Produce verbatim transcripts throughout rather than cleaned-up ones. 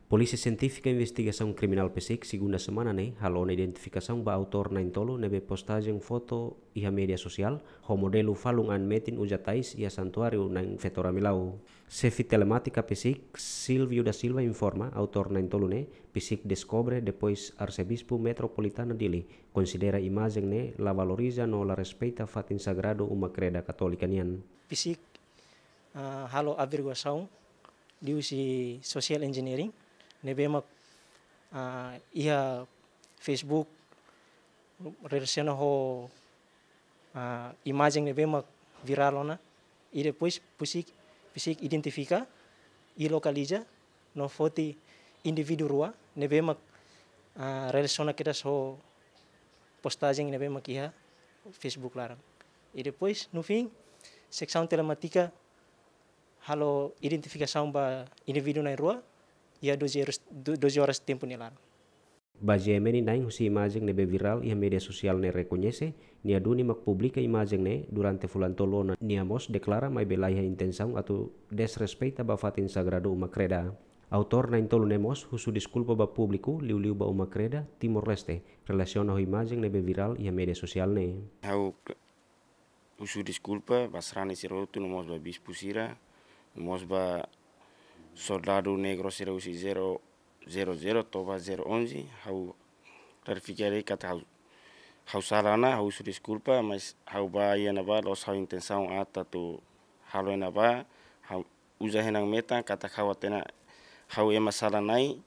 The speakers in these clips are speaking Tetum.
Polísia Sientífika Investigasaun Kriminál PSIK segunda semana ne'e halo ona identifikasaun ba autór na'in-tolu ne'ebé postajen foto iha média sosiál ho modelu falun an metin uza tais iha santuáriu na'in-feto Ramilau. Xefe telemátika PSIK, Silvio da Silva, informa autór na'in-tolu ne'e PSIK deskobre depois Arsebispu Metropolitana Dili konsidera imajen ne'e la valoriza no la respeita fatin sagradu uma kreda katólika nian. PSIK, ah, halo averiguasaun liuhusi social engineering ne'ebé mak, ah, iha Facebook relasiona ho, ah, imajen ne'ebé mak virál ona. I depois PSIK, PSIK identifika i lokaliza no foti indivíduu rua ne'ebé mak, ah, relasiona kedas ho postajen ne'ebé mak iha Facebook laran. I depois, no fim, seksaun telemátika halo identifikasaun ba indivíduu na'in-rua iha doze horas, do-, doze horas tempu nia laran. Ba GMN, na'in husi imajen ne'ebé virál iha média sosiál ne'e rekoñese, nia duni mak publika imajen ne'e durante fulan tolu ona. Nia mós deklara maibé laiha intensaun atu desrespeita ba fatin sagradu uma kreda. Autór na'in-tolu ne'e mós husu deskulpa ba públiku, liuliu ba uma kreda Timor-Leste, relasiona ho imajen ne'ebé virál iha média sosiál ne'e. Ha'u husu deskulpa ba sarani sira hotu, no mós ba bispu sira, no mós ba soldadu negru sira husi zero zero zero to'o ba zero onze, ha'u klarifika de'it katak ha'u, ha'u sala ona, ha'u husu deskulpa, mas ha'u ba iha ne'ebá la'ós ha'u intensaun aat atu halo iha ne'ebá, ha'u uza ha'u-nia metan katak ha'u hatene ha'u ema sala-na'in,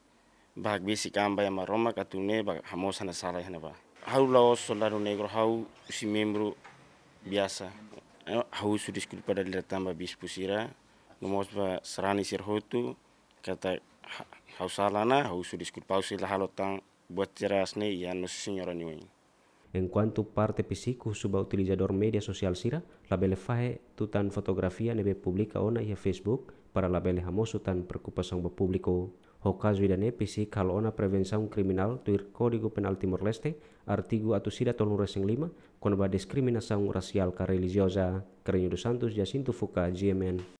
ba hakbesik an ba iha Maromak atu nune'e ba hamoos ha'u-nia sala iha ne'ebá. Ha'u la'ós soldadu negru, ha'u husi membru biasa. Eh, ha'u husu deskulpa dala ida tan ba bispu sira, no mós ba sarani sira hotu, katak ha-, ha'u sala ona, ha'u husu deskulpa, ha'u sei la halo tan buat sira hanesan ne'e iha Nossa Senhora nia oin. Enkuantu parte PSIK husu ba utilizadór média sosiál sira labele fahe tutan fotografia ne'ebé publika ona iha Facebook para labele hamosu tan preokupasaun ba públiku. Ho kazu ida-ne'e PSIK halo ona prevensaun kriminál tuir Kódigu Penál Timor-Leste, artigu atus ida tolunulu-resin-lima, kona-ba diskriminasaun rasiál ka relijioza. Carreño dos Santos, Jacinto Fuca, GMN.